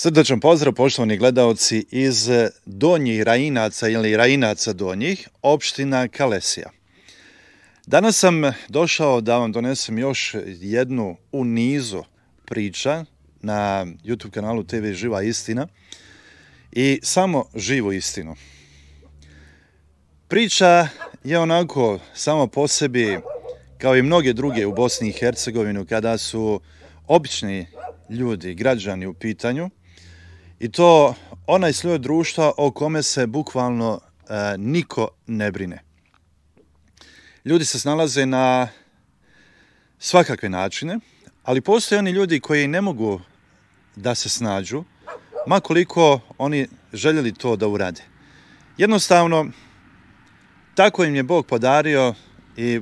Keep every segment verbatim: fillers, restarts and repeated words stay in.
Srdačan pozdrav, poštovani gledaoci iz Donjih Rajinaca ili Rajinaca Donjih, opština Kalesija. Danas sam došao da vam donesem još jednu u nizu priča na YouTube kanalu T V Živa istina i samo živu istinu. Priča je onako samo po sebi, kao i mnoge druge u Bosni i Hercegovini, kada su obični ljudi, građani u pitanju, i to onaj sloj društva o kome se bukvalno e, niko ne brine. Ljudi se snalaze na svakakve načine, ali postoje oni ljudi koji ne mogu da se snađu, ma koliko oni željeli to da urade. Jednostavno, tako im je Bog podario i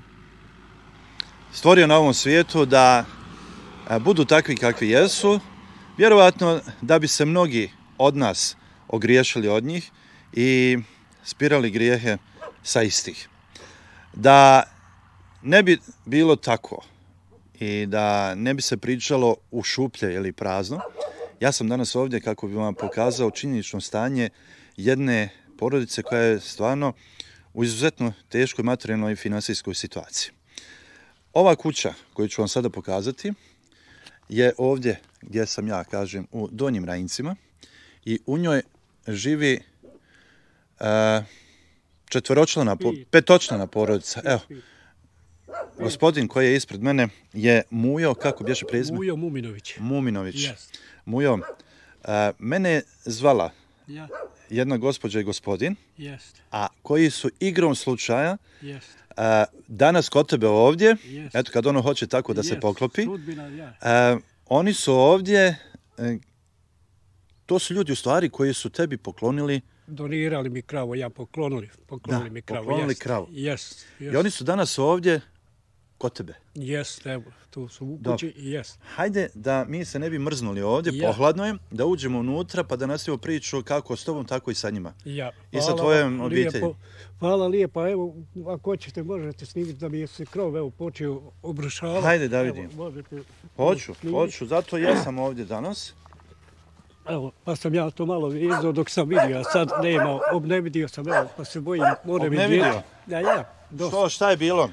stvorio na ovom svijetu da budu takvi kakvi jesu, vjerovatno da bi se mnogi od nas ogriješili od njih i spirali grijehe sa istih. Da ne bi bilo tako i da ne bi se pričalo u šuplje ili prazno, ja sam danas ovdje kako bi vam pokazao činjenično stanje jedne porodice koja je stvarno u izuzetno teškoj materijalnoj i finansijskoj situaciji. Ova kuća koju ću vam sada pokazati je ovdje gdje sam ja, kažem, u Donjim Rajincima, i u njoj živi uh, četvoročlana, petočlana porodica. Evo, gospodin koji je ispred mene je Mujo, kako bješe prezime? Mujo Muminović. Muminović. Yes. Mujo, uh, mene je zvala Ja. jedna gospođa i gospodin, Yes. a koji su igrom slučaja Yes. uh, danas kod tebe ovdje, Yes. eto kad ono hoće tako da se Yes. poklopi, Sudbina, ja. uh, oni su ovdje, uh, to su ljudi u stvari koji su tebi poklonili, Donirali mi kravu, ja poklonili, poklonili Da, mi kravu. poklonili yes. kravu. Yes. Yes. i oni su danas ovdje kod tebe. Yes, evo, tu su u Dobro. kući, yes. Hajde da mi se ne bi mrznuli ovdje, Ja. pohladno je, da uđemo unutra pa da nastavimo priču kako s tobom, tako i sa njima. Ja. I sa Hvala tvojom vam obitelji. lijepo. Hvala lijepa, evo, ako hoćete možete snimiti da mi je se krov, evo, počeo obrušavati. Hajde da vidim. Evo, možete Hoću, snimiti. hoću, zato ja sam ovdje danas. Evo, pa sam ja to malo vezao dok sam vidio, a sad nema, obnevidio sam, evo, pa se bojim, more mi Obnevidio? djeti. Ja, ja, dosta. Što, šta je bilo?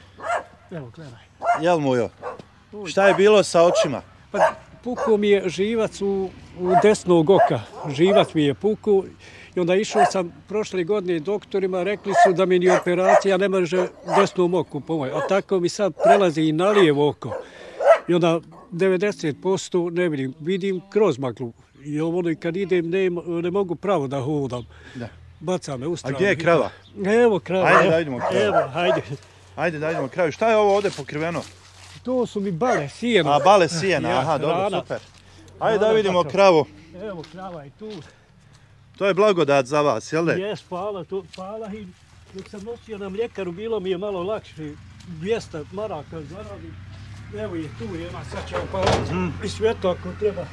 Evo, gledaj. Jel, Mujo? Šta je bilo sa očima? Pa pukao mi je živac u, u desnog oka, živac mi je pukao i onda išao sam prošle godine doktorima, rekli su da mi ni operacija ne može desnom oku pomoći, a tako mi sad prelazi i na lijevo oko. I onda devedeset posto ne vidim, vidim kroz maglu. I ono i kad idem ne, ne mogu pravo da hodam. Da. Baca me u A stranu. gdje je krava? Evo krava. Ajde evo. da idemo kravu. Evo, hajde. Ajde da idemo kraju. Šta je ovo ovdje pokriveno? To su mi bale, sijena. A, bale sijena, Ja, aha, dobro, hrana. super. Ajde da Hrana, vidimo tako. kravu. Evo krava je tu. To je blagodat za vas, jel de? Jes, hvala, to, hvala i dok sam nosio na mljekaru bilo mi je malo lakše, dvjesto maraka zaradim. Evo je tu, ima, sad će opaliti mm. i svjetlo ako treba.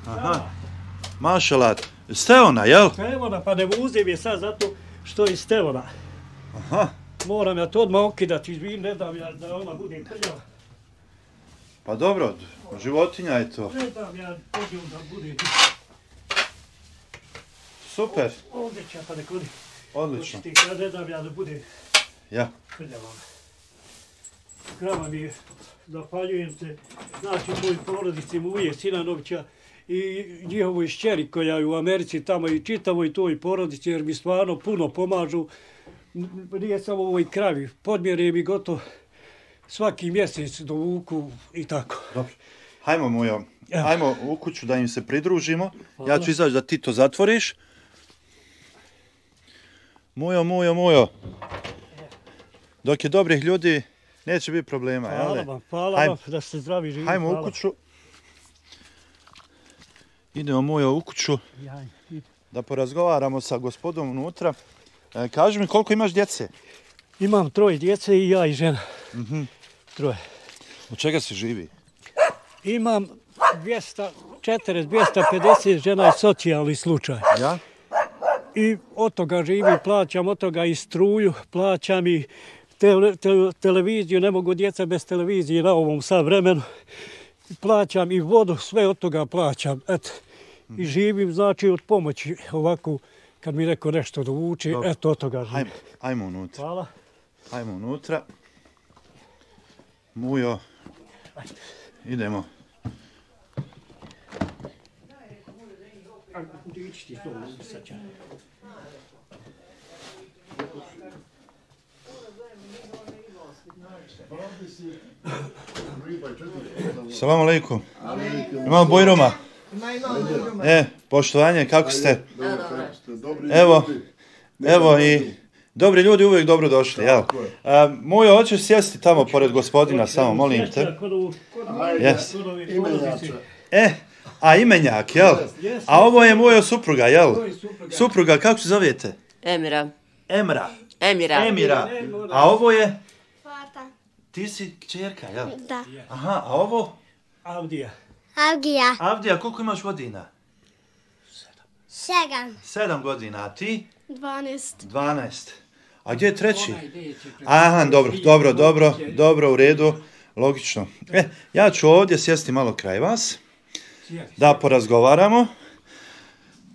Aha, mašalat. Steona, jel? Stevona, pa ne vuzim je sad zato što je Stevona. Aha, Moram ja to odmah okidati, izvim, ne dam ja da ona bude krljava. pa dobro, životinja je to. Ne dam ja podijom da bude. Super, Ovdje će pa nek oni. odlično. Očisti, ja ne dam ja da bude Ja. krljava. Krava mi je, zahvaljujem se, znači moj porodici Muje Sinanovića i njihovoj šćeri koja je u Americi tamo i čitavoj toj porodici jer mi stvarno puno pomažu. N- Nije samo ovoj kravi, podmjere mi gotovo svaki mjesec dovuku i tako. Dobro. Hajmo, Mujo, Evo. hajmo u kuću da im se pridružimo. Ja Hvala. ću izaći da ti to zatvoriš. Mujo, Mujo, Mujo. Dok je dobrih ljudi, neće biti problema, jel Hvala de? vam, hvala Hajmo. vam da ste zdravi živi. Hajmo hvala. u kuću. Idemo, Mujo, u kuću Ja, i- da porazgovaramo sa gospodom unutra. E, kaži mi koliko imaš djece? Imam troje djece i ja i žena. Mhm. Troje. Od čega se živi? Imam dvjesto četrdeset do dvjesto pedeset žena je socijalni slučaj. Ja? I od toga živim, plaćam od toga i struju, plaćam i te, te, televiziju, ne mogu djeca bez televizije na ovom sad vremenu. Plaćam i vodu, sve od toga plaćam. Eto. i živim, znači, od pomoći ovako, kad mi neko nešto dovuče, eto od toga živim. Ajmo, ajmo unutra. Hvala. Ajmo unutra. Mujo, idemo. Salam alaikum. Imamo Bojroma. E, poštovanje, kako ste? Evo, evo i dobri ljudi uvijek dobro došli, jel? Mujo, hoćeš sjesti tamo pored gospodina, samo, molim te. Jes. E, a imenjak, jel? A ovo je moja supruga, jel? Supruga, kako se zovete? Emira. Emra. Emira. Emira. A ovo je? Fata. Ti si kćerka, jel? Da. Aha, a ovo? Avdija. Avgija. Avdija, koliko imaš godina? Sedam. Sedam godina, a ti? Dvanest. Dvanaest. A gdje je treći? Aha, dobro, dobro, dobro, dobro, u redu, logično. E, ja ću ovdje sjesti malo kraj vas, da porazgovaramo.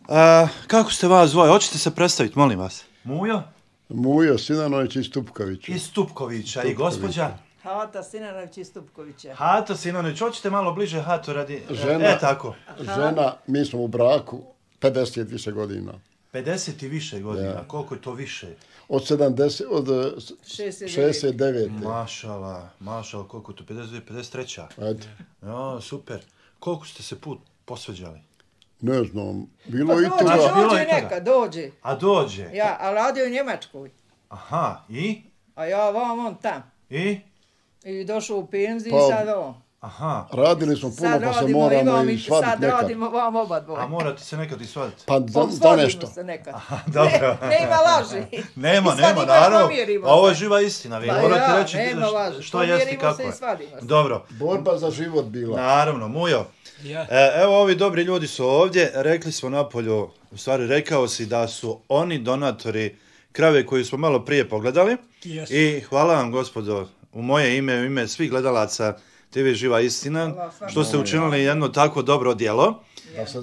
A, kako ste vas dvoje? Hoćete se predstaviti, molim vas? Mujo? Mujo Sinanović iz Stupkovića. Iz Stupkovića. I gospođa? Hata Sinanović iz Stupkovića. Hato Sinanović, hoćete malo bliže Hato radi... Žena, e, tako. Žena, mi smo u braku pedeset više godina. pedeset i više godina, ja. Koliko je to više? Od sedamdeset, od šezdeset devete. Mašala, mašala, koliko je to, pedeset dvije, pedeset tri. Ajde. Ja, super. Koliko ste se put posveđali? Ne znam, bilo pa i dođe, toga. dođe neka, dođe. A dođe? Ja, a radio u Njemačkoj. Aha, i? A ja vam, on tam. I? I došao u penziju Pa, i sad on. Aha. Radili smo puno, Sad pa se radimo, moramo imam i i svaditi sad nekad. radimo vam oba dvoje. A morate se nekad i svaditi? Pa da, Pa da svodimo nešto. se nekad. Aha, dobro. Ne, nema laži. Nema, I svadimo nema, i naravno. pomirimo Ovo je se. živa istina, vi Pa morate ja, reći nema š- laži. što jeste i Pomirimo kako se i je. svadimo se. Dobro. Borba za život bila. Naravno, Mujo. Ja. E, evo ovi dobri ljudi su ovdje, rekli smo napolju, u stvari rekao si da su oni donatori krave koju smo malo prije pogledali. Yes. I hvala vam gospodo, u moje ime, u ime svih gledalaca T V Živa istina, što ste učinili jedno tako dobro djelo.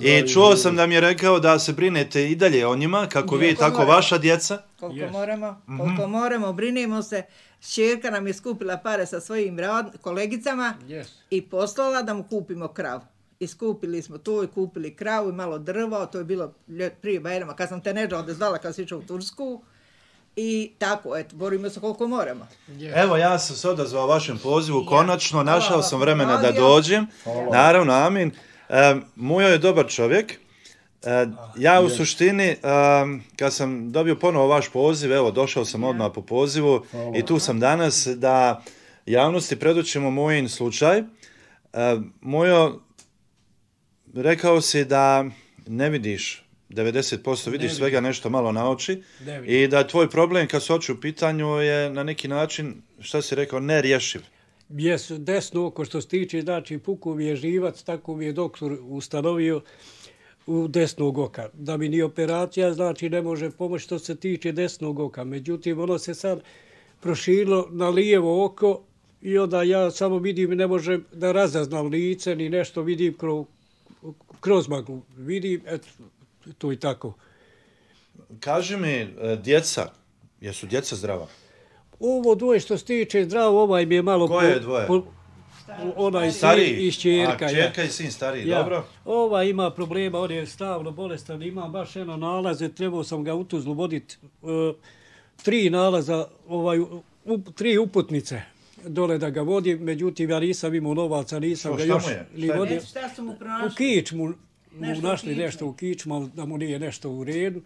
I čuo sam da mi je rekao da se brinete i dalje o njima, kako vi, tako vaša djeca. Koliko Yes. moramo, koliko moramo, brinimo se. Ćerka nam je skupila pare sa svojim rad, kolegicama Yes. i poslala da mu kupimo kravu. I skupili smo to i kupili kravu i malo drva, to je bilo ljet, prije Bajrama, kad sam te Nedža odezvala kad si išao u Tursku. I tako, eto, borimo se koliko moramo. Evo, ja sam se odazvao vašem pozivu, Ja. konačno, našao Hvala, sam vremena da radio. dođem. Naravno, amin. E, Mujo je dobar čovjek. E, ja u suštini, e, kad sam dobio ponovo vaš poziv, evo, došao sam odmah po pozivu i tu sam danas da javnosti predočimo mojin slučaj. E, Mujo, rekao si da ne vidiš devedeset posto, vidiš Ne svega nešto malo na oči Ne vidim. i da tvoj problem kad su oči u pitanju je na neki način, šta si rekao, nerješiv. Jes, desno oko što se tiče, znači puku mi je živac, tako mi je doktor ustanovio u desnog oka. Da mi ni operacija, znači ne može pomoći što se tiče desnog oka. Međutim, ono se sad proširilo na lijevo oko i onda ja samo vidim, ne možem da razaznam lice, ni nešto vidim kroz, kroz maglu. Vidim, eto, to i tako. Kaži mi, e, djeca, jesu djeca zdrava? Ovo dvoje što se tiče zdravo, ovaj mi je malo... Koje dvoje? Onaj sin Stariji? i ćerka. A, ja. ćerka i sin stariji, Ja. dobro. Ova ima problema, on je stavno bolestan, imam baš jedno nalaze, trebao sam ga u Tuzlu voditi. E, tri nalaza, ovaj, u, tri uputnice dole da ga vodim, međutim ja nisam imao novaca, nisam Što, ga šta još mu je? ni Šta je? vodio. Eto, šta su mu U pronašli? kičmu mu Nešto u našli kičmu. nešto u kičmu, ali da mu nije nešto u redu.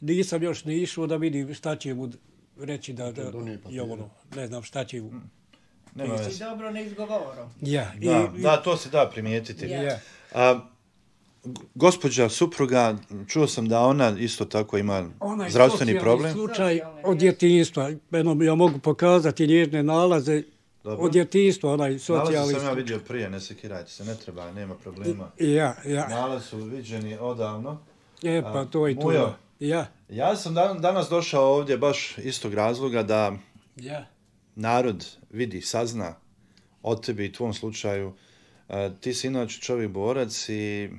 Nisam još ni išao da vidim šta će mu reći da, da je ono, ne znam šta će mu. Nema Si veze. dobro ne izgovorom. Ja, i, Da, da, to se da primijetiti. ja. A, g- gospođa supruga, čuo sam da ona isto tako ima Onaj zdravstveni socijalni problem. slučaj Socijalni, od djetinjstva. Eno, ja mogu pokazati njezine nalaze Dobro. od djetinjstva, onaj Nalaze socijalni sam ja slučaj. vidio prije, ne sekirajte se, ne treba, nema problema. Ja, ja. Nalaze su viđeni odavno. E, pa to i to. Mujo. Ja, Ja sam dan, danas došao ovdje baš istog razloga da ja. narod vidi, sazna od tebi i tvom slučaju. E, ti si inače čovjek borac i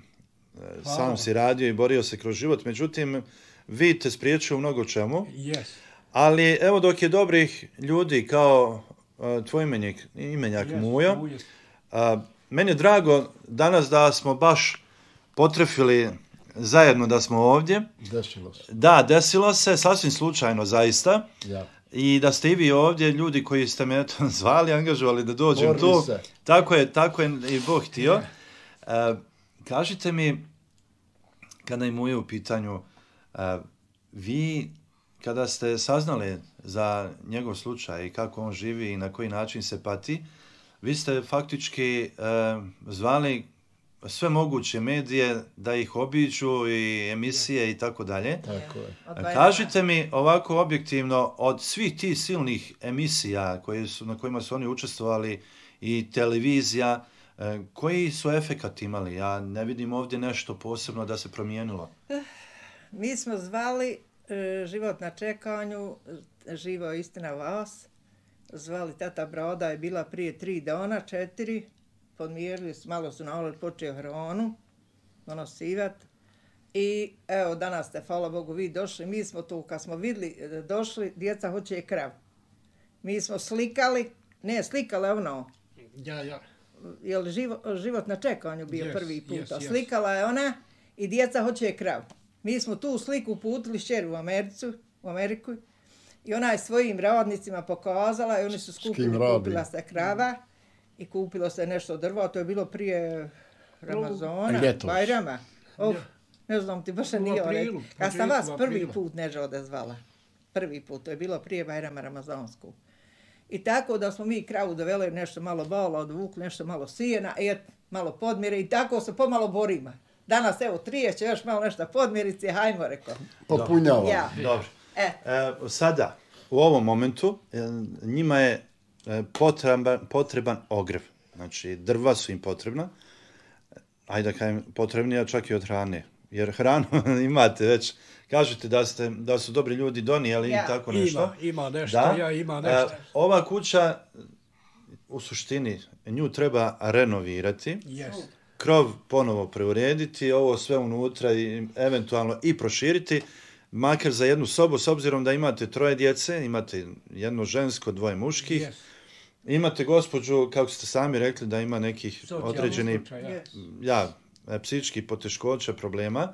sam si radio i borio se kroz život, međutim, vid te spriječio u mnogo čemu. Yes. Ali evo dok je dobrih ljudi kao uh, tvoj imenjak, imenjak Yes, Mujo, Mujo. uh, meni je drago danas da smo baš potrefili zajedno da smo ovdje. Desilo se. Da, desilo se, sasvim slučajno zaista. Ja. I da ste i vi ovdje, ljudi koji ste me eto zvali, angažovali da dođem Borili tu. se. Tako je, tako je i Bog htio. Uh, kažite mi, kada je Mujo u pitanju, uh, vi kada ste saznali za njegov slučaj i kako on živi i na koji način se pati, vi ste faktički uh, zvali sve moguće medije da ih obiđu i emisije i tako dalje. Tako je. Kažite mi ovako objektivno, od svih tih silnih emisija koje su, na kojima su oni učestvovali i televizija, eh, koji su efekat imali? Ja ne vidim ovdje nešto posebno da se promijenilo. Mi smo zvali e, Život na čekanju, Živo istina vas. Zvali tata Broda, je bila prije tri dana, četiri. Podmjerili su, malo su na počeo hronu, donosivat. I evo, danas ste, hvala Bogu, vi došli. Mi smo tu, kad smo vidjeli, došli, djeca hoće krav. Mi smo slikali, ne slikali ono, Ja, ja. je li živo, život na čekanju bio Yes, prvi puta. yes, yes. Slikala je ona i djeca hoće krav. Mi smo tu sliku uputili šćeri u Americu, u Ameriku i ona je svojim radnicima pokazala i oni su skupili, radi? kupila se krava i kupilo se nešto drva, to je bilo prije Ramazona, Ljetos. Bajrama. Oh, ne znam ti, baš U nije aprilu, ovaj. Kad sam vas početku prvi aprila. put neža odezvala. Prvi put, to je bilo prije Bajrama Ramazansku. I tako da smo mi kravu doveli, nešto malo bala odvukli, nešto malo sijena, et, malo podmire i tako se pomalo borimo. Danas evo trijeće, još malo nešto podmirice, hajmo reko. Popunjava. Ja. Dobro. E, E, sada, u ovom momentu, e, njima je e, potreban, potreban ogrev. Znači, drva su im potrebna. Ajde da kažem, potrebnija čak i od hrane. Jer hranu imate već, kažete da, ste, da su dobri ljudi donijeli Ja. i tako nešto. Ima, ima nešto, Da. ja ima E, nešto. ova kuća, u suštini, nju treba renovirati. Yes. Krov ponovo preurediti, ovo sve unutra i eventualno i proširiti, makar za jednu sobu, s obzirom da imate troje djece, imate jedno žensko, dvoje muških, Yes. imate gospođu, kako ste sami rekli, da ima nekih Socijalni određenih slučaj, ja. yes. ja, e, psihičkih poteškoća, problema.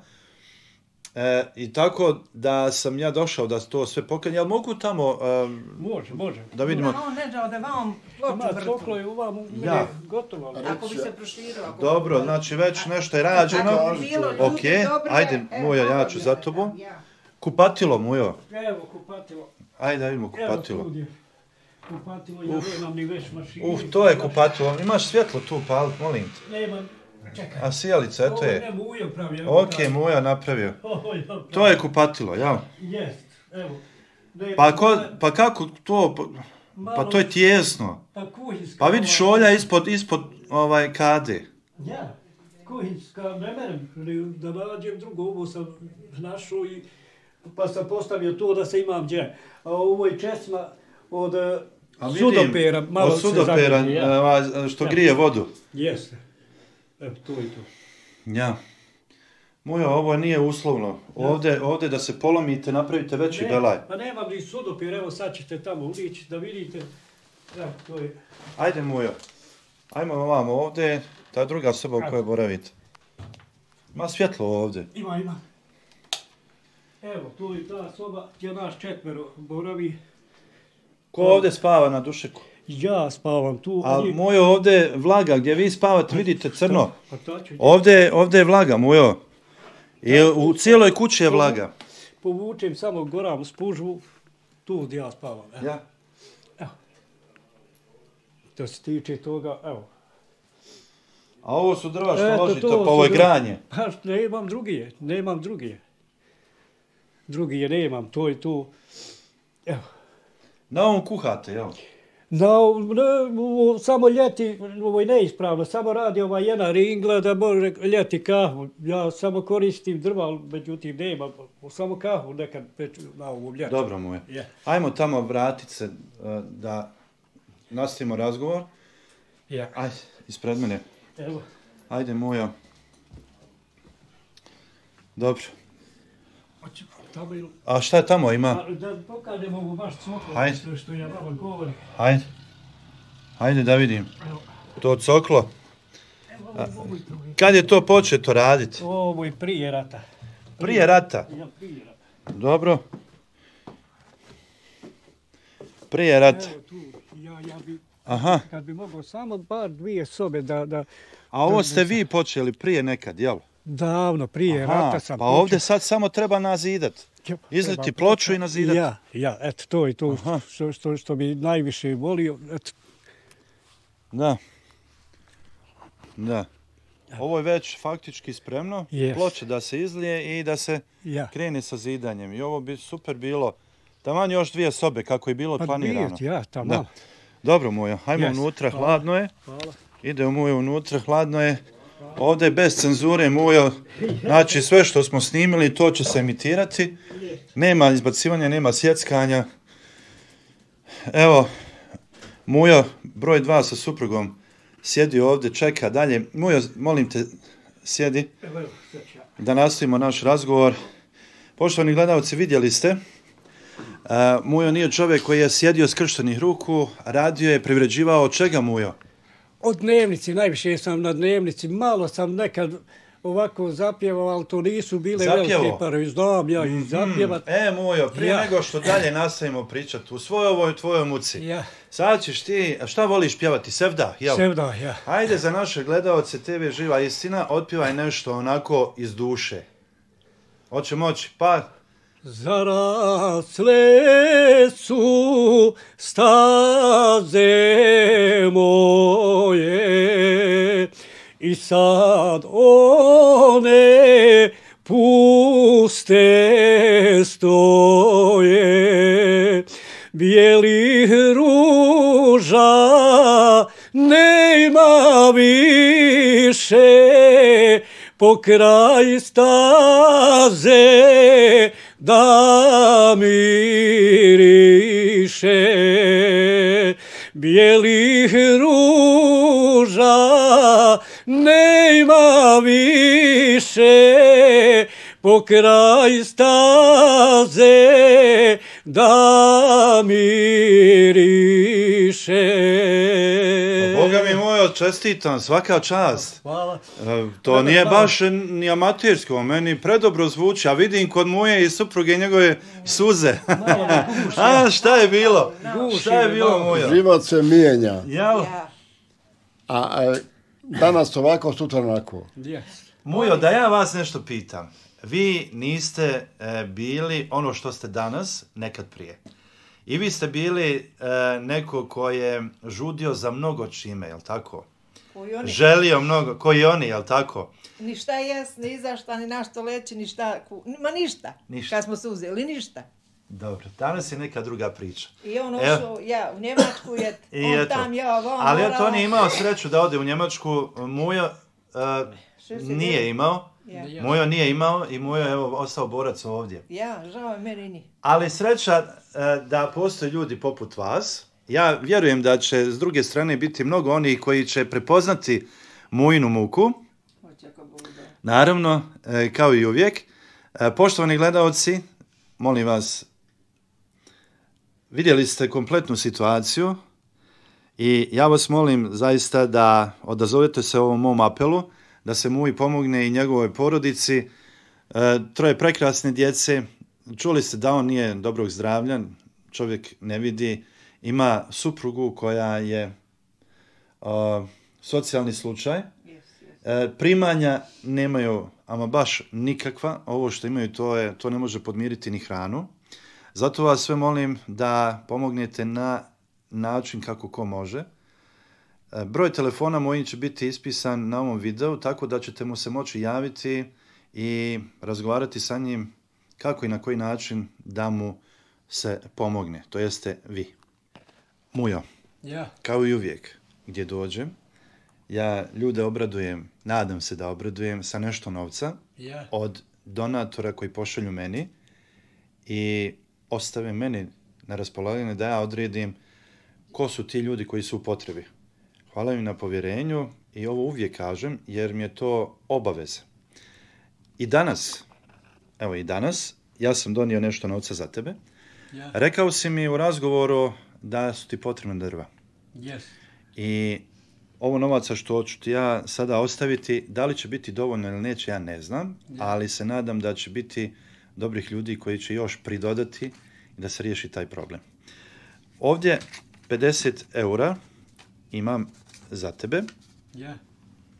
E, I tako da sam ja došao da to sve pokrenje, ali mogu tamo e, Može, može. da vidimo. Da, on neđa ode vam ploču Ima vrtu. coklo i uvam, meni Ja. je gotovo. ali- Ako bi se proširilo. ako- Dobro, znači već nešto je rađeno. Ako bi bilo ljudi Ok, dobri, ajde, e, Mujo, ja malo ću bi za ja tobom. rekao, ja. Kupatilo, Mujo. Evo kupatilo. Ajde da vidimo Evo kupatilo. tu je. Kupatilo, ja nemam ni već mašine. Uf, to je kupatilo. Imaš svjetlo tu, palit, molim te. Nemam, čekaj. A sijalica, eto Ovo je. ne Mujo pravi. evo Ok, pravi. Muja napravio. Ovo ja pravi. To je kupatilo, jel? Jest, evo. Ne, Pa, ko, pa kako to, pa, pa to je tijesno. Pa kuhinska. Pa vidi šolja ispod, ispod ovaj kade. Ja, kuhinska, ne merem ni da nađem drugo, ovo sam našao i pa sam postavio to da se imam gdje. A ovo je česma od eh, A vidim, sudopera, malo od sudopera, se zagrije, ja. ovaj, što grije vodu. Jeste. Evo, to i to. Ja. Mujo, ovo nije uslovno. Ovdje, ovdje da se polomite, napravite veći Ne, belaj. Pa nemam ni sudopir, evo sad ćete tamo ulići da vidite. Evo, to je. Ajde, Mujo. Ajmo ovamo ovdje, ta druga soba u kojoj boravite. Ima svjetlo ovdje. Ima, ima. Evo, tu je ta soba gdje naš četvero boravi. Ko ovdje spava na dušeku? Ja spavam tu. A oni- Mujo, ovdje je vlaga, gdje vi spavate, vidite crno. Pa to ću. Ovdje, ovdje je vlaga, Mujo. I u cijeloj kući je vlaga. Povučem samo goram spužvu, tu gdje ja spavam. Evo. Ja. To se tiče toga, evo. A ovo su drva što Eto, ložite, to pa su ovo je drva. granje. Pa nemam drugije, nemam drugije. Drugije nemam, to je tu. Evo. Na ovom kuhate, jel? No, ne, ovo samo ljeti, ovo je neispravno, samo radi ova jedna ringla da može ljeti kahvu. Ja samo koristim drva, ali međutim nemam, samo kahvu nekad peču na ovom ljetu. Dobro, Mujo. Je. Ajmo tamo vratit se uh, da nastavimo razgovor. Ja. Ajde, ispred mene. Evo, Ajde, Mujo. Dobro. Hoćemo tamo ili... A šta je tamo ima? A, Da pokažemo mu baš coklo, Hajde. što, što ja vama govorim. Hajde. Hajde da vidim. Evo, To coklo. evo, ovo, ovo, to je- Kad je to početo raditi? Ovo je prije rata. Prije rata. Ja, prije rata. Dobro. Prije rata. Evo tu, ja, ja bi, Aha. kad bi mogao samo bar dvije sobe da, da A ovo ste vi počeli prije nekad, jel? davno prije Aha, rata sam pa ovdje sad samo treba nazidat. počeo- Izleti treba- ploču i nazidat. Ja, ja, eto, to je to Aha. što, što, što bi najviše volio. Eto, Da. Da. Ovo je već faktički spremno. Yes. Ploče da se izlije i da se ja. krene sa zidanjem. I ovo bi super bilo. Taman još dvije sobe kako je bilo Pa planirano. dvije, ja, tamo. Da. Dobro, Mujo, hajmo Yes. unutra, Hvala. hladno je. Hvala. Idemo Mujo unutra, hladno je. Ovdje je bez cenzure, Mujo. Znači sve što smo snimili, to će se emitirati. Nema izbacivanja, nema sjeckanja. Evo, Mujo, broj dva sa suprugom, sjedi ovdje, čeka dalje. Mujo, molim te, sjedi Evo, evo, sad ću ja. da nastavimo naš razgovor. Poštovani gledalci, vidjeli ste, uh, Mujo nije čovjek koji je sjedio skrštenih ruku, radio je, privređivao. Od čega, Mujo? Od dnevnici, najviše sam na dnevnici, malo sam nekad ovako zapjevao, ali to nisu bile Zapjevao? velike pare. Znam ja i zapjevat. E, Mujo, prije Ja. nego što dalje nastavimo pričati u svojoj ovoj tvojoj muci, Ja, sad ćeš ti, a šta voliš pjevati, sevda, jel? sevda, ja. Ajde za naše gledalce te ve Živa istina, otpjevaj nešto onako iz duše. Hoće moći, pa... Zarasle su staze moje i sad one puste stoje. Bijelih ruža nema više, po kraj staze da miriše. Bijelih ruža nema više, po kraj staze da miriše. Boga mi Mujo, čestitam, svaka čast. Hvala. E, To nije baš ni amatersko, meni predobro zvuči, a vidim kod Muje i supruge i njegove suze. A šta je bilo? Guši Šta je me bilo, malo. Mujo? Život se mijenja, Jel? Ja. a, a danas ovako, sutra onako. Yes. Mujo, da ja vas nešto pitam. Vi niste e, bili ono što ste danas, nekad prije. I vi ste bili e, neko ko je žudio za mnogo čime, jel tako? Koji oni, Želio mnogo, koji oni, jel tako? ni šta jest, ni za šta, ni na što leći, ni šta, ku- ma ništa. Ništa. Kad smo se uzeli, ništa. Dobro, danas je neka druga priča. I on Evo. ošao, ja, u Njemačku je, I on eto. tam, ja, vam, Ali morala. eto, on je imao sreću da ode u Njemačku. Mujo e, šezdeset nije devet. imao. Ja. Ja. Mujo nije imao i Mujo je evo, ostao borac ovdje. Ja, žao je meni ni. Ali sreća e, da postoje ljudi poput vas. Ja vjerujem da će s druge strane biti mnogo onih koji će prepoznati Mujinu muku. Hoće ako Bog da. Naravno, e, kao i uvijek. E, poštovani gledalci, molim vas, vidjeli ste kompletnu situaciju i ja vas molim zaista da odazovete se ovom mom apelu, da se Muji pomogne i njegovoj porodici. E, troje prekrasne djece, čuli ste da on nije dobrog zdravlja, čovjek ne vidi, ima suprugu koja je a, socijalni slučaj. Yes, yes. E, primanja nemaju ama baš nikakva, ovo što imaju to, je, to ne može podmiriti ni hranu. Zato vas sve molim da pomognete na način kako ko može. E, broj telefona moj će biti ispisan na ovom videu, tako da ćete mu se moći javiti i razgovarati sa njim kako i na koji način da mu se pomogne, to jeste vi. Mujo, Ja. kao i uvijek, gdje dođem, ja ljude obradujem, nadam se da obradujem sa nešto novca Ja. od donatora koji pošalju meni i ostave meni na raspolaganje da ja odredim ko su ti ljudi koji su u potrebi. Hvala im na povjerenju i ovo uvijek kažem jer mi je to obaveza. I danas evo i danas, ja sam donio nešto novca za tebe. Ja. Rekao si mi u razgovoru da su ti potrebne drva. Yes. I ovo novaca što ću ti ja sada ostaviti, da li će biti dovoljno ili neće, ja ne znam, ali se nadam da će biti dobrih ljudi koji će još pridodati i da se riješi taj problem. Ovdje pedeset eura imam za tebe. Ja.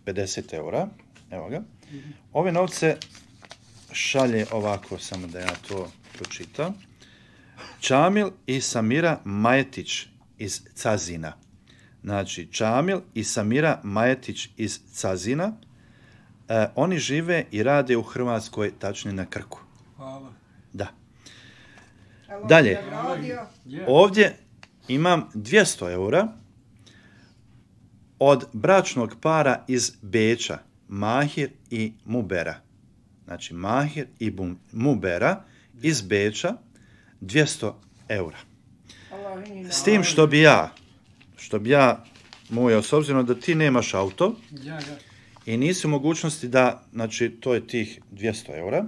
pedeset eura, evo ga. Ove novce šalje ovako, samo da ja to pročitam. Čamil i Samira Majetić iz Cazina. Znači, Čamil i Samira Majetić iz Cazina. E, oni žive i rade u Hrvatskoj, tačnije na Krku. Hvala. Da. Evo, Dalje. je radio. Ja. Ovdje imam dvjesto eura od bračnog para iz Beča, Mahir i Mubera. Znači, Mahir i Bum- Mubera iz Beča, dvjesto eura. Allah i S tim što bi ja, što bi ja mojao, s obzirom da ti nemaš auto Ja, ja. i nisi u mogućnosti da, znači to je tih dvjesto eura,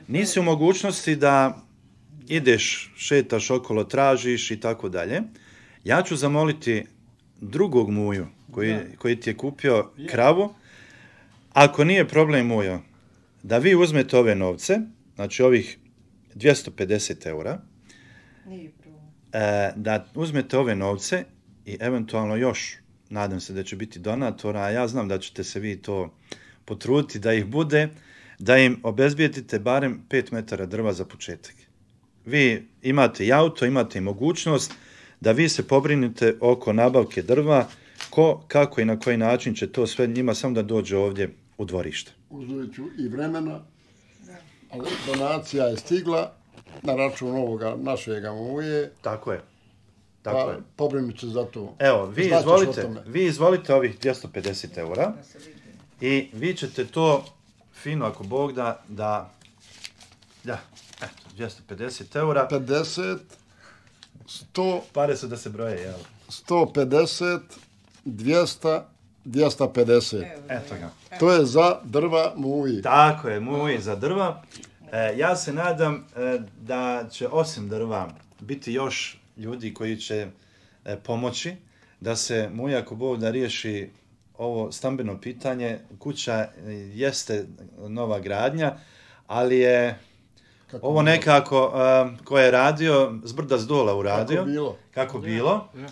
nisi u mogućnosti da ideš, šetaš okolo, tražiš i tako dalje, ja ću zamoliti drugog muju koji, koji ti je kupio kravu, ako nije problem mujo, da vi uzmete ove novce, znači ovih dvjesto pedeset eura, Nije problem. e, da uzmete ove novce i eventualno još, nadam se da će biti donatora, a ja znam da ćete se vi to potruditi da ih bude, da im obezbijedite barem pet metara drva za početak. Vi imate i auto, imate i mogućnost da vi se pobrinite oko nabavke drva, ko, kako i na koji način će to sve njima samo da dođe ovdje u dvorište. Uzet ću i vremena, ali donacija je stigla na račun ovoga našega muje, Tako je. Tako pa je. pobrinut se za to. Evo, vi Znaćeš o izvolite, tome. vi izvolite ovih dvjesto pedeset eura i vi ćete to fino, ako Bog da, da, da, eto, dvjesto pedeset eura, pedeset, sto, pare su da se broje, jel? sto pedeset, dvjesto, dvjesto pedeset. Eto ga. To je za drva muji. Tako je, muj za drva. E, ja se nadam e, da će osim drva biti još ljudi koji će e, pomoći da se muj, ako Bog da riješi ovo stambeno pitanje. Kuća e, jeste nova gradnja, ali je Kako ovo nekako e, ko je radio, zbrda s dola uradio. Kako bilo. Kako bilo. Ja.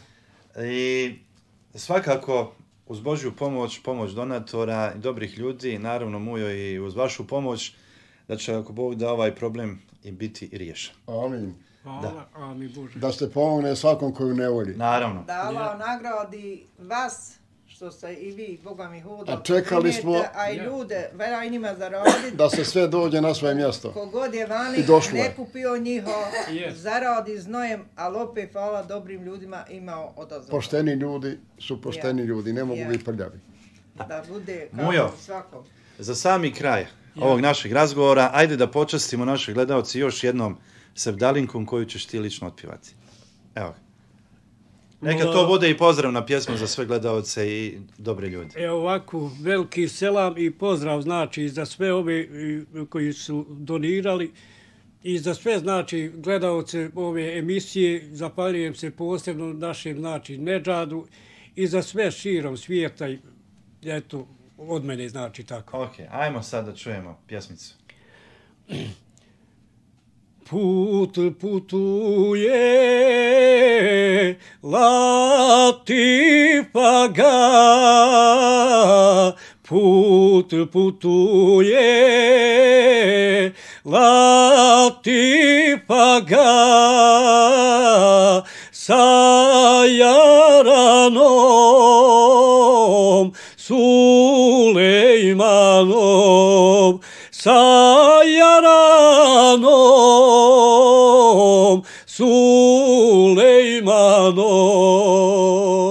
I svakako uz Božju pomoć, pomoć donatora i dobrih ljudi, naravno Mujo i uz vašu pomoć, da će ako Bog da ovaj problem i biti riješen. Amin. Hvala, a mi Bože. Da se pomogne svakom koju ne voli. Naravno. Da Allah nagradi vas, što ste i vi, Boga mi hoda. A čekali smo- A i Ja. ljude, vera i njima zaraditi. Da se sve dođe na svoje mjesto. Kogod je vani, I došlo je. ne kupio njiho, Yes. zaradi znojem, ali opet hvala dobrim ljudima imao odazov. Pošteni ljudi su pošteni Ja. ljudi, ne mogu Ja. biti prljavi. Da bude kao Mujo. svakom. Za sami kraj ovog našeg razgovora, ajde da počastimo naše gledalci još jednom sevdalinkom koju ćeš ti lično otpivati. Evo ga. Neka to bude i pozdravna pjesma za sve gledalce i dobre ljude. Evo ovako, veliki selam i pozdrav znači za sve ove i, koji su donirali i za sve znači gledalce ove emisije, zapaljujem se posebno našem znači Nedžadu i za sve širom svijeta i eto od mene znači tako. Ok, ajmo sad da čujemo pjesmicu. Put putuje Latifa ga, put putuje Latifa ga, sa Jaranom, Sulejmanom, sa Jaranom, Sulejmanom.